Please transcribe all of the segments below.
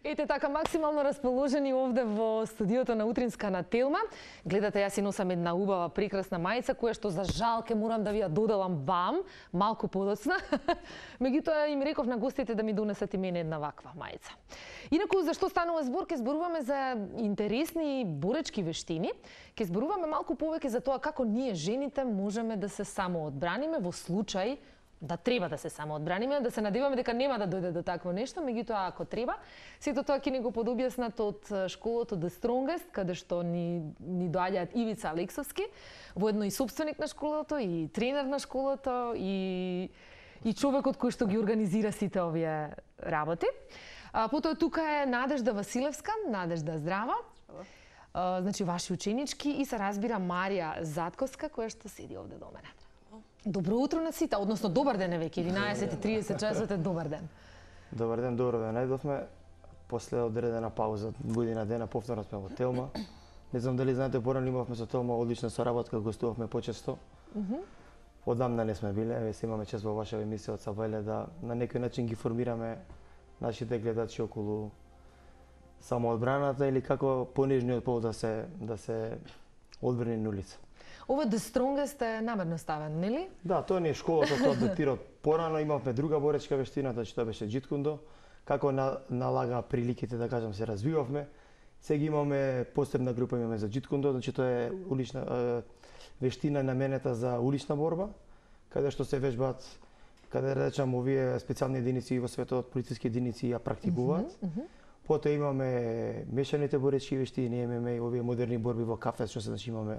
Ете така максимално расположени овде во студиото на Утринска на Телма. Гледате, јас си носам една убава, прекрасна мајца, која што за жал ке морам да ви ја доделам вам, малку подоцна. Меѓутоа им реков на гостите да ми донесат и мене една ваква мајца. Инаку, зашто станува збор, ке зборуваме за интересни боречки вештини. Ке зборуваме малку повеќе за тоа како ние жените можеме да се самоодбраниме во случај да треба да се самоодбраниме, да се надеваме дека нема да дојде до такво нешто, меѓутоа ако треба, сето тоа ќе ни го подобјаснат од школото The Strongest, каде што ни доаѓаат Ивица Алексовски, воедно и собственик на школото, и тренер на школото, и човекот кој што ги организира сите овие работи. Потоа тука е Надежда Василевска. Надежда, здрава. Значи ваши ученички и се разбира Марија Затковска, која што седи овде до мене. Добро утро на сите, односно добар ден е веќе, 11:30 часот е добар ден. Добар ден, добро да најдовме. После одредена пауза, година дена, повторно сме во Телма. Не знам дали знаете, порано имавме со Телма одлична соработка, гостувавме почесто. Одамна не сме биле, еве се имаме чест во ваша емисија од Сабајле да на некој начин ги формираме нашите гледачи околу самоодбраната или како понежниот пол да се одбрани на улица. Ова The Strongest е намерно ставен, нели? Да, тоа не е школата, тоа датира од порано, имавме друга боречка вештина, тоа беше джиткундо. Како налага приликите, да кажам, се развивавме. Сега имаме посебна група имаме за джиткундо, значи тоа е улична вештина наменета за улична борба, каде што се вежбаат, каде речам овие специјални единици во светот, полициски единици ја практикуваат. Потоа имаме мешаните боречки вештини, имаме овие модерни борби во кафес, што се значи имаме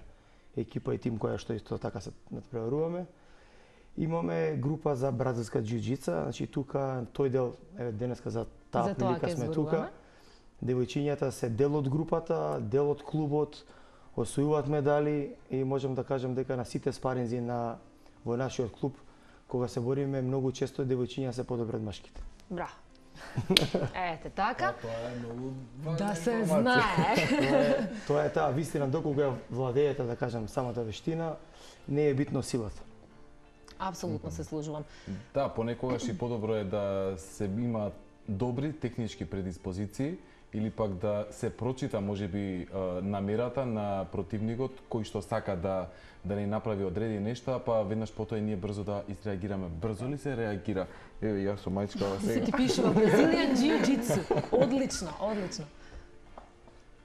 екипа и тим која што исто така се надпреваруваме. Имаме група за бразилска џиу-џица, значи тука тој дел, еве денеска за таа прилика сме тука. Девојчињата се дел од групата, дел од клубот, освојуваат медали и можам да кажам дека на сите спаринзи во нашиот клуб кога се бориме многу често девојчиња се подобри од машките. Браво. Ете така. Тоа е многу важна да се информација. знае. Тоа е таа вистина, докога ја владеете, да кажам, самата вештина, не е битно силата. Апсолутно се служувам. Да, понекогаш и подобро е да се има добри технички предиспозиции или пак да се прочита можеби намерата на противникот кој што сака да ни направи одредени нешта, па веднаш потоа и ние брзо да изреагираме. Брзо ли се реагира? Еве јас со мајчкава Се сега. ти пишува Brazilian Jiu-Jitsu. Одлично, одлично.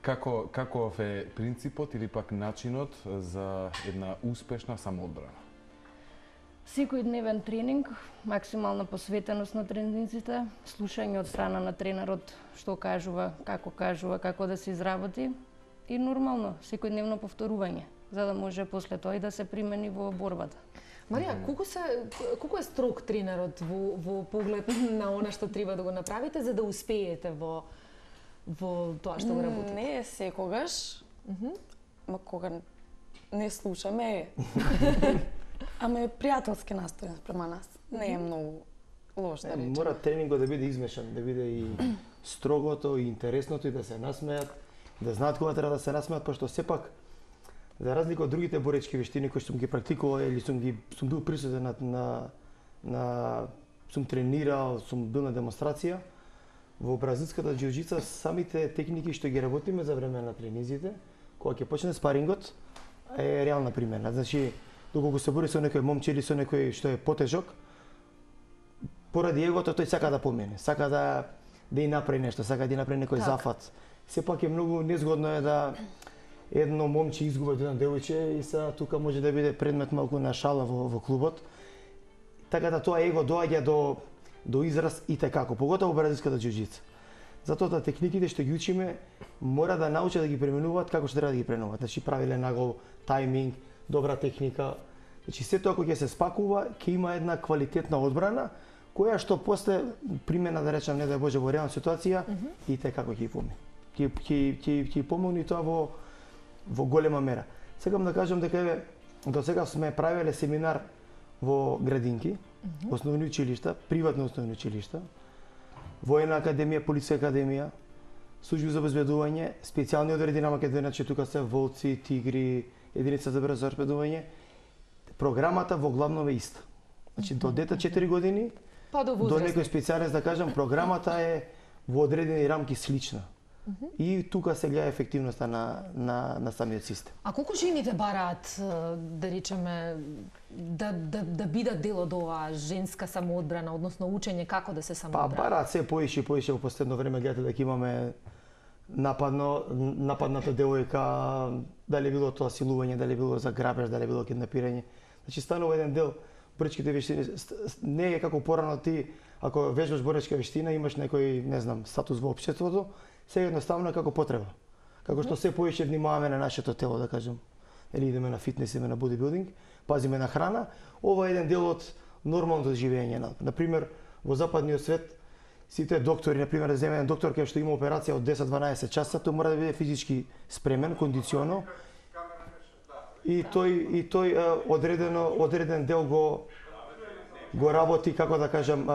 Каков е принципот или пак начинот за една успешна самоодбрана? Секојдневен тренинг, максимална посветеност на тренинзите, слушање од страна на тренерот што кажува, како да се изработи и нормално, секојдневно повторување, за да може после тоа и да се примени во борбата. Марија, колку е строг тренерот во поглед на она што треба да го направите за да успеете во тоа што го работите? Не е секогаш, ма кога не слушаме ама е пријателски настоен спрема нас. Не е многу лош да речем. Мора тренингот да биде измешан, да биде и строгото, и интересното, и да се насмеат, да знаат кога треба да се насмеат, пошто сепак, за разлика од другите боречки вештини кои што сум ги практикувал или сум бил присутен сум тренирал, сум бил на демонстрација, во бразилската џиу-џица самите техники што ги работиме за време на тренизите, кога ќе почне спарингот, е реална примена. Значи, доколку се бори со некој момче или со некој што е потежок, поради егото тој сака да помине, сака да и направи нешто, сака да и направи некој зафат. Сепак е многу незгодно е да едно момче изгуби од едно девојче и сега тука може да биде предмет малку на шала во клубот. Така да тоа его доаѓа до израз и tekako, поготово во бразилската џиу-џица. Затоа техниките што ги учиме мора да научат да ги применуваат како што треба да ги применуваат. Значи правилен нагол, тајминг, добра техника. Значи се тоа кога ќе се спакува, ќе има една квалитетна одбрана која што после примена, да речам, не да Боже во реална ситуација и како ќе помине. Ќе помогне тоа во голема мера. Сакам да кажам дека до сега сме правеле семинар во градинки, основни училишта, приватни основни училишта, војна академија, полициска академија, служби за обезбедување, специјални одреди на Македонија, че тука се волци, тигри, единица за брзо торпедување. Програмата во главно е иста. Значи до дете 4 години, па до некој специјалист да кажам, програмата е во одредени рамки слична. И тука се гледа ефективноста на самиот систем. А колку жените бараат, да речеме, да бидат дел од оваа женска самоодбрана, односно учење како да се самоодбрана? Бараат се поише и поише во последно време, гледате дека имаме нападната девојка, дали било тоа силување, дали било за грабеж, дали било киднапирање. Значи станува еден дел боречките вештини, не е како порано ти, ако вежбаш боречка вештина, имаш некој, не знам, статус во општеството, се едноставно како потреба. Како што се поише внимаваме на нашето тело, да кажем. Или идеме на фитнес, идеме на бодибилдинг, пазиме на храна, ова е еден дел од нормалното живење. Например, во западниот свет, сите доктори, например, да земе еден доктор кај што има операција од 10-12 часа, тој мора да биде физички спремен, кондиционо. И тој одреден дел го работи, како да кажам,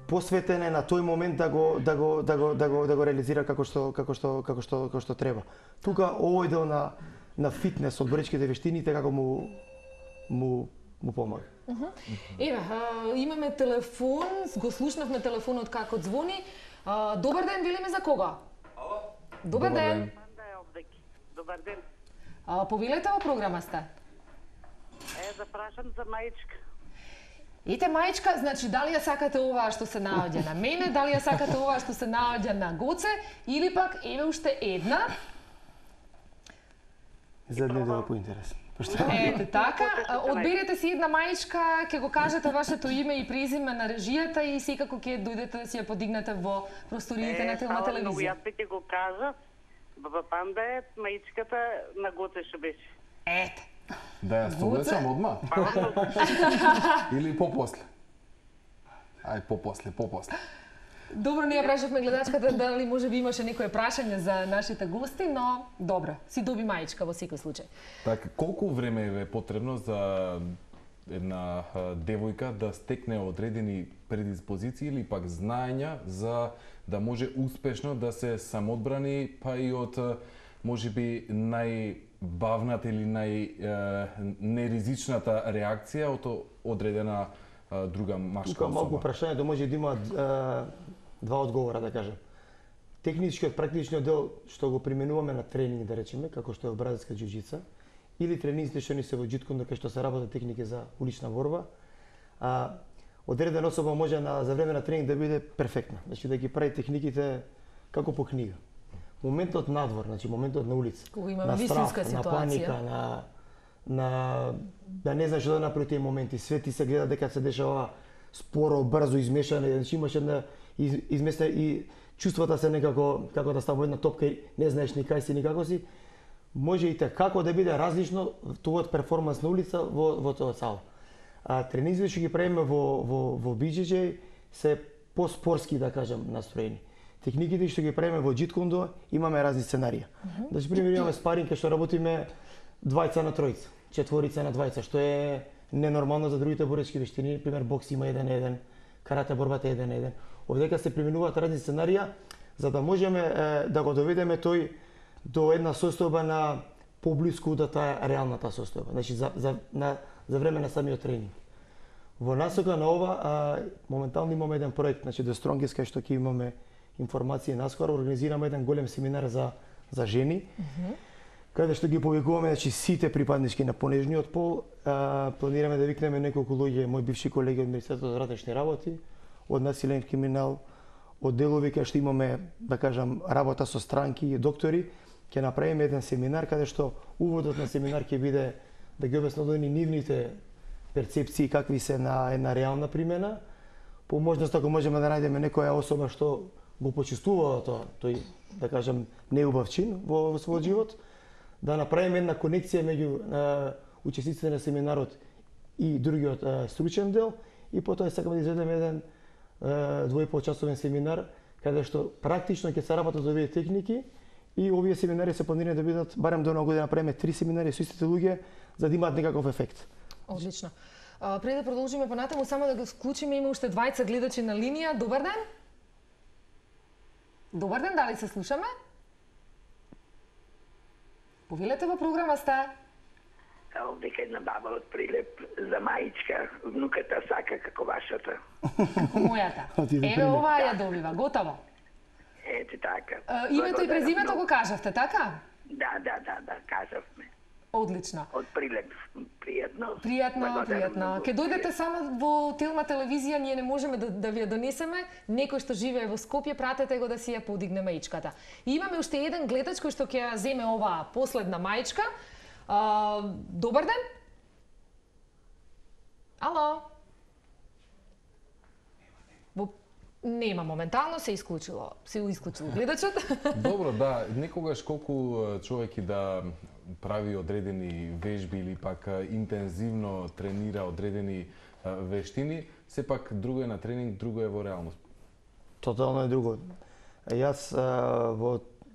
посветен е на тој момент да го реализира како што треба. Тука овој дел на фитнес од боречките вештините како му помага. Еве, имаме телефон, го слушнавме телефонот како звони. Добар ден, велиме за кого? Ало? Добар ден. Добар ден. Повелете во програма сте. Запрашам за мајчка. Ете мајчка, значи дали ја сакате оваа што се наоѓа на мене, дали ја сакате оваа што се наоѓа на Гоце, или пак еве уште една. Задниот дел е поинтересен. Ете така, одберете си една мајчка, ќе го кажете вашето име и презиме на режијата и секако ќе дојдете да си ја подигнете во просториите на Телма телевизија. Јас ќе го кажа, Баба Панда е мајчката на Гоце што беше. Ете. Да ја совлечам одма? Или попосле? Ај, попосле. Добро, ние прашавме гледачката дали може би имаше некое прашање за нашите гости, но добро, си доби мајчка во секој случај. Така, колку време е потребно за една девојка да стекне одредени предиспозиции или пак знаења за да може успешно да се самоодбрани, па и од можеби најбавната или неризичната реакција од одредена друга машка особа? Тука малку прашањето може да има два одговора, да кажем. Техничкиот, практичниот дел што го применуваме на тренинг, да речеме, како што е бразилска џиу-џица, или тренинзите што ни се во џиткондо кај што се работат техники за улична борба, одредена особа може за време на тренинг да биде перфектна, значи да ги прави техниките како по книга. Моментот надвор, значи моментот на улица, на страх, на паника, на да не знаеш што да направи тие моменти, све ти се гледа дека се дешава споро, брзо, измешане, значи имаш една изместена и чувствата се некако како да ставува една топка и не знаеш ни кај си ни како си, може и како да биде различно тоа перформанс на улица во тоа сала. Тренинзите што ги правиме во BJJ се поспорски, да кажам, настроени. Техниките што ги правиме во џиткондо имаме разни сценарија. Значи, пример, имаме спаринг кај што работиме двајца на тројца, четворица на двајца, што е ненормално за другите боречки вештини, пример бокс има 1-1, карате борбата е 1-1. Овдека се применуваат разни сценарија за да можеме да го доведеме тој до една состојба на поблиску да таа реалната состојба. Значи за време на самиот тренинг. Во насока на ова моментално имаме еден проект, значи The Strongest, кај што ќе имаме информации наскоро, организираме еден голем семинар за жени. Каде што ги повикуваме, значи сите припаднички на понежниот пол, планираме да викнеме неколку луѓе, мои бивши колеги од Министерството за внатрешни работи, од насилен криминал, од делови кај што имаме, да кажам, работа со странки и доктори, ќе направиме еден семинар каде што уводот на семинар ќе биде да ги објаснат нивните перцепции какви се на една реална примена. По можност ако можеме да најдеме некоја особа што го почувствува тоа, тој, да кажам, неубав чин во својот живот, да направиме една конекција меѓу учесниците на семинарот и другиот стручен дел, и потоа сакаме да изведеме еден 2,5-часовен семинар каде што практично ќе се работат овие техники и овие семинари се планирани да бидат барем до една година правиме 3 семинари со истите луѓе за да имаат некаков ефект. Одлично. Пред да продолжиме понатаму, само да го вклучиме, има уште двајца гледачи на линија. Добар ден. Добар ден, дали се слушаме? Повелете во програма сте. Овдека една баба од Прилеп за мајчка, внуката сака како вашата. Мојата. Отиде Еве пример. оваа ја добива, готово. Ете така. Името и презимето го кажавте, така? Да, кажавме. Одлично. Од прилеп, пријатно. Пријатно. Ке дојдете само во Телма телевизија, ние не можеме да ви ја донесеме. Некој што живее во Скопје, пратете го да си ја подигне маичката. И имаме уште еден гледач кој што ќе ја земе оваа последна маичка. Добар ден. Ало. Нема моментално, се исклучило гледачот. Добро, да, некогаш колку човек и да прави одредени вежби или пак интензивно тренира одредени вештини, сепак друго е на тренинг, друго е во реалност. Тотално е друго. Јас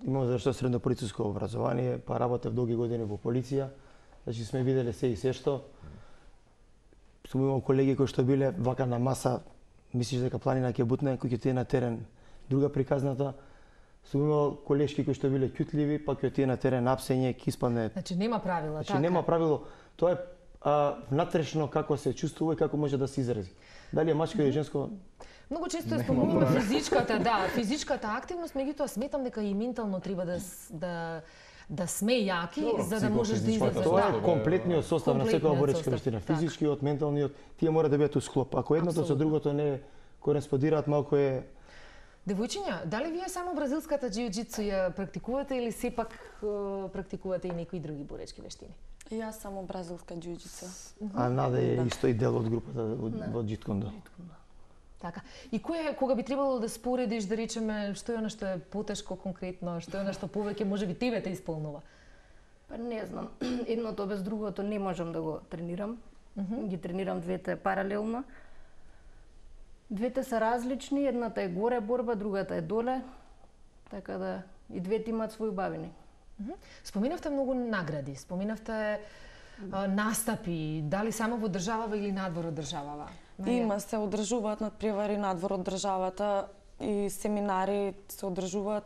имам завршено средно полициско образование, па работев долги години во полиција. Значи сме виделе се и се што. Сум имал колеги кои што биле вака на маса, мислиш дека планина ќе бутне, кој ќе тие на терен друга приказната. Сум имал колешки кои што биле ќутливи, па ќе тие на терен апсење, ќе испадне. Значи нема правила, Значи така? нема правило. Тоа е внатрешно како се чувствува и како може да се изрази. Дали е мачко или женско? Многу често спомнуваме физичката активност, меѓутоа сметам дека и ментално треба да сме јаки за да можеш да излезеш. Тоа е комплетниот состав на секоја боречка вештина, така. физичкиот, менталниот, тие мора да бидат у склоп. Ако едното со другото не кореспондираат, малку е. Девојчиња, дали вие само бразилската џиу-џитсу ја практикувате или сепак практикувате и некои други боречки вештини? Јас само бразилска џиу-џитсу. А Нада е исто и дел од групата во џиткондо. Така. И кога би требало да споредиш, да речеме, што е она што е потешко конкретно, што е она што повеќе можеби тебе те исполнува? Па не знам, едното без другото не можам да го тренирам. Ги тренирам двете паралелно. Двете се различни, едната е горе борба, другата е доле. Така да и двете имаат своји убавини. Споминавте многу награди, споминавте настапи, дали само во државава или надвор од државава? Има, се одржуваат надпревари надвор од државата и семинари се одржуваат.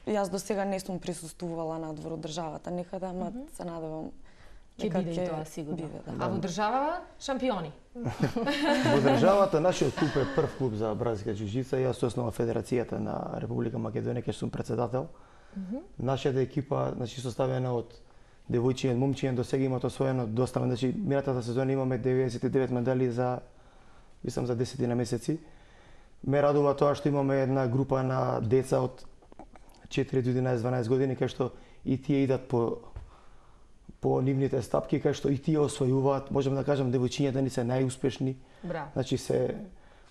Јас до сега не сум присуствувала надвор од државата некаде, ама се надевам Ќе биде и тоа сигурно. биде, да. А во државава шампиони. Во државата нашиот клуб е прв клуб за бразилска џиу-џитса, јас сум основа Федерацијата на Република Македонија, кај сум председател. Нашата екипа, значи составена од девојчиња, момчиња, до сега имаат освоено доста, значи минатата сезона имаме 99 медали за мислам за 10 на месеци. Ме радува тоа што имаме една група на деца од 4 до 11-12 години кај што и тие идат по нивните стапки, кај што и тие освојуваат, можам да кажам девојчињата ни се најуспешни. Браво. Значи се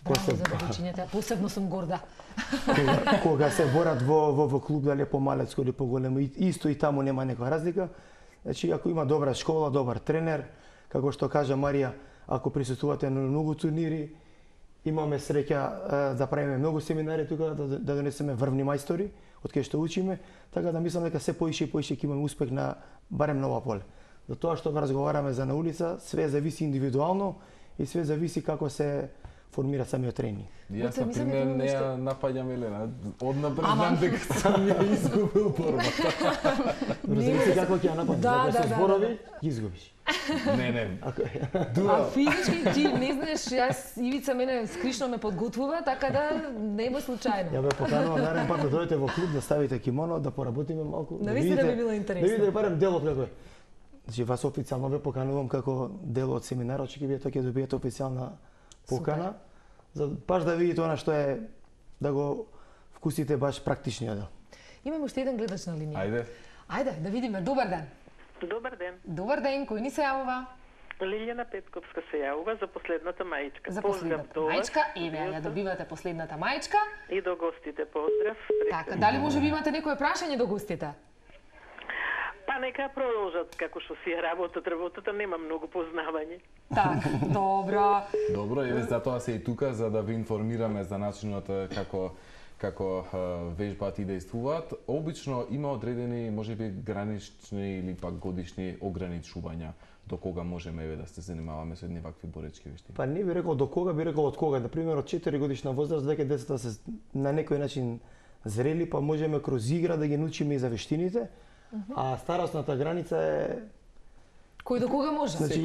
Браво за девојчињата, посебно сум горда. кога се борат во клуб, дали е помалецко или поголемо, исто и таму нема некоја разлика. Значи, ако има добра школа, добар тренер, како што кажа Марија, ако присуствувате на многу турнири, имаме среќа да правиме многу семинари тука, да донесеме врвни мајстори, од кај што учиме, така да мислам дека се поише и поише ќе имаме успех на барем на ова поле. За тоа што разговараме за на улица, све зависи индивидуално и све зависи како се формира самиот тренинг. Јас, на пример, не ја напаѓам Елена. Однапред знам дека сам ја изгубил борбата. Зависи како ќе ја нападнеш. Ако се зборови, ги изгубиш. Не. А физички ти не знаеш, јас Ивица мене скришно ме подготвува, така да не е случајно. Ја ве поканувам нареден пат да дојдете во клуб, да ставите кимоно, да поработиме малку. Навистина би било интересно. Да видите барем делот како е. Значи вас официјално ве поканувам како дел од семинарот, ќе вие ќе добиете официјална покана, за баш да видите она што е, да го вкусите баш практичниот дел. Имаме уште еден гледач на линија. Ајде, да видиме. Добар ден. Добар ден. Добар ден, кој ни се јавува? Лилјана Петковска се јавува за последната маичка. За последната маичка, еве ја добивате последната маичка. И до гостите поздрав. Така, дали може би имате некое прашање до гостите? Па нека продолжат како што си е работата нема многу познавање. Така, добро. Добро, еве затоа се и тука за да ви информираме за начинот како вежбаат и действуваат. Обично има одредени можеби гранични или пак годишни ограничувања до кога можеме еве да се занимаваме со едни вакви боречки вештини. Па не би рекол до кога, би рекол од кога. На пример од 4 годишна возраст веќе децата се на некој начин зрели, па можеме кроз игра да ги научиме и за вештините. А старосната граница е Кој до кога може? Значи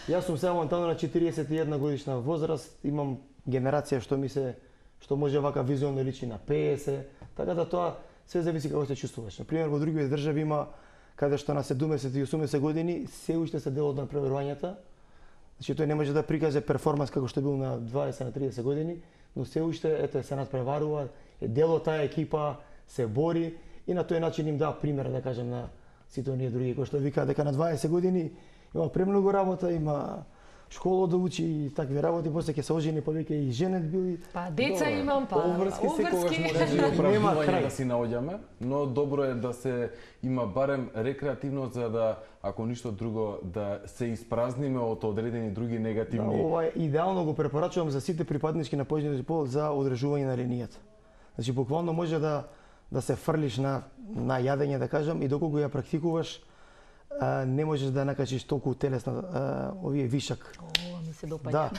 јас сум сега моментално на 41 годишна возраст, имам генерација што може вака визуелно личи на 50, така да тоа се зависи како се чувствуваш. На пример во други држави има каде што на 70 и 80 години се уште се дел од напреварувањата. Значи тој не може да прикаже перформанс како што бил на 20 на 30 години, но се уште се надпреварува, е дел од таа екипа, се бори и на тој начин им дава пример, да кажем, на сите оние други кои што викаат дека на 20 години има премногу работа, има школа да учи и такви работи, после ќе се ожени, па веќе и женет бил. Па деца имам, па обврски секогаш може да оправдување да си наоѓаме, но добро е да се има барем рекреативно за да, ако ништо друго, да се испразниме од одредени други негативни. Да, ова идеално го препорачувам за сите припаднички на појачниот пол за одржување на линијата. Значи буквално може да се фрлиш на јадење, да кажам, и доколку ја практикуваш, не можеш да накачиш толку телесна овие вишак. Ова ми се допаѓа. Да.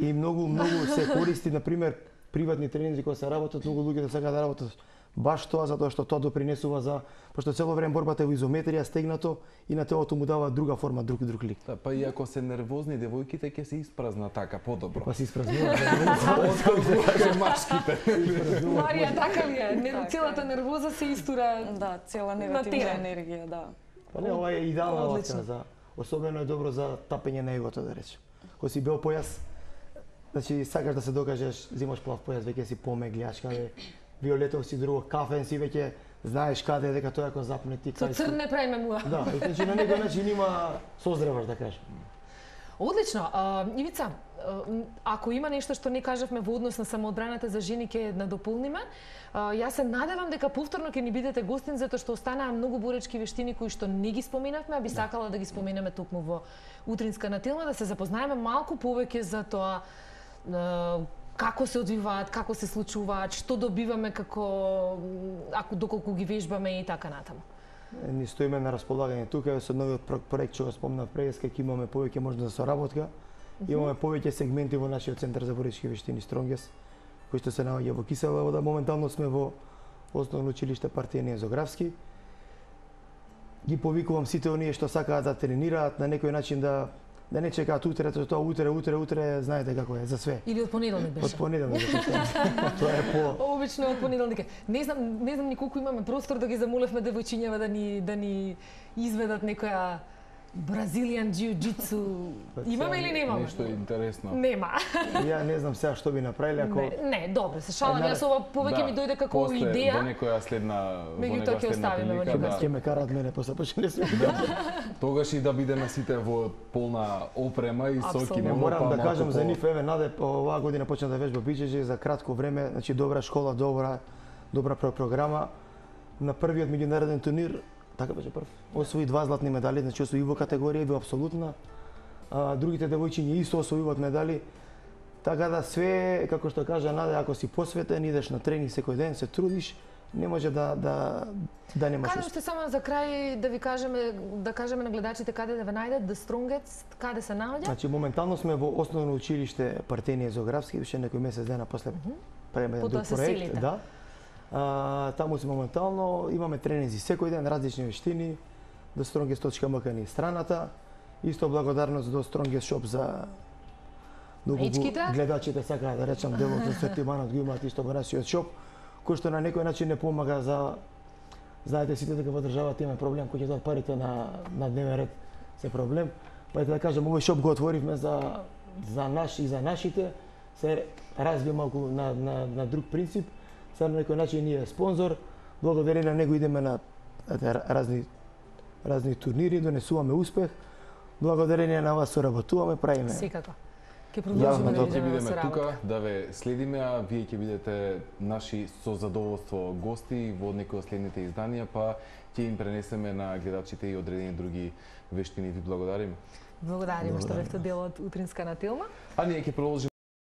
И многу се користи, на пример, приватни тренинзи кои се работат, многу луѓе да сакаат да работат баш тоа, затоа што тоа допринесува за, пошто цело време борбата е во изометрија, стегнато и на телото му дава друга форма, друг лик. Да, па и ако се нервозни девојките ќе се испразна така подобро. Па се испразнуваат. Машките. Марија, така ли е? Целата нервоза се истура. Да, цела негативна енергија, да. Па не, ова е идеална вакцина за, особено е добро за тапење на егото, да речем. Кога си бел појас, значи сакаш да се докажеш, земаш плав појас, веќе си помеглјаш каде виолетов си друго, кафен си веќе знаеш каде дека тоа ако запне ти кај. Со црн не правиме муа. Да, значи на некој начин има созреваш, да кажем. Одлично. Ивица, ако има нешто што не кажавме во однос на самоодбраната за жени, ќе надополниме. Јас се надевам дека повторно ќе ни бидете гостин, затоа што останаа многу боречки вештини кои што не ги споменавме, а би сакала да ги споменеме токму во утринска на Телма, да се запознаеме малку повеќе за тоа како се одвиваат, како се случуваат, што добиваме доколку ги вежбаме и така натаму. Ни стоиме на располагање тука со новиот проект што го спомнав пред, ќе имаме повеќе можност за соработка. Имаме повеќе сегменти во нашиот центар за боречки вештини Стронгес, кој што се наоѓа во Кисела вода. Моментално сме во основно училиште Партијан Езографски. Ги повикувам сите оние што сакаат да тренираат, на некој начин да не чекаат утре, тоа утре, знаете како е, за све. Или од понеделник беше. Од понеделник беше. Тоа е по обично од понеделник. Не знам ни колку имаме простор да ги замолевме девојчињава да ни изведат некоја Бразилијан џиу-џитсу. Имаме или немаме? Нешто интересно. Нема. Ја не знам сега што би направиле ако Не, добро, се шалам, јас ова повеќе ми дојде како идеја. Во некоја следна Меѓутоа ќе оставиме во некоја. Ќе ме караат мене после почне сме. Тогаш и да бидеме сите во полна опрема и со кимоно. Морам да кажам за нив, еве Наде оваа година почна да вежба биџеџи за кратко време, значи добра школа, добра програма. На првиот меѓународен турнир така беше прв. Освои 2 златни медали, значи освои во категорија и во апсолутна. Другите девојчиња исто освојуваат медали. Така да све, како што кажа Наде, ако си посветен, идеш на тренинг секој ден, се трудиш, не може да немаш успех. Каде сте само за крај да ви кажеме на гледачите каде да ве најдат, The Strongest, каде се наоѓа? Значи моментално сме во основно училиште Партијан Езографски, више некој месец дена после правиме еден друг проект, да. Таму сме моментално, имаме тренинзи секој ден, различни вештини, thestrongest.mk ни страната. Исто благодарност до Strongest Shop за гледачите сакаат да речам делот за сортиманот го имаат исто во нашиот шоп, кој што на некој начин не помага за, знаете сите дека во државата има проблем кој ќе дадат парите на дневен ред се проблем. Па да кажам, овој шоп го отворивме за наш и за нашите, се развива малку на друг принцип. Сега на некој начин ние спонзор, благодарение на него идеме на разни турнири, донесуваме успех. Благодарение на вас соработуваме, правиме. Секако. Ќе продолжиме да бидеме тука, да ве следиме, а вие ќе бидете наши со задоволство гости во некои од следните изданија, па ќе им пренесеме на гледачите и одредени други вештини. Ви благодариме. Благодариме што бевте дел од утринска на Телма. А ние ќе продолжиме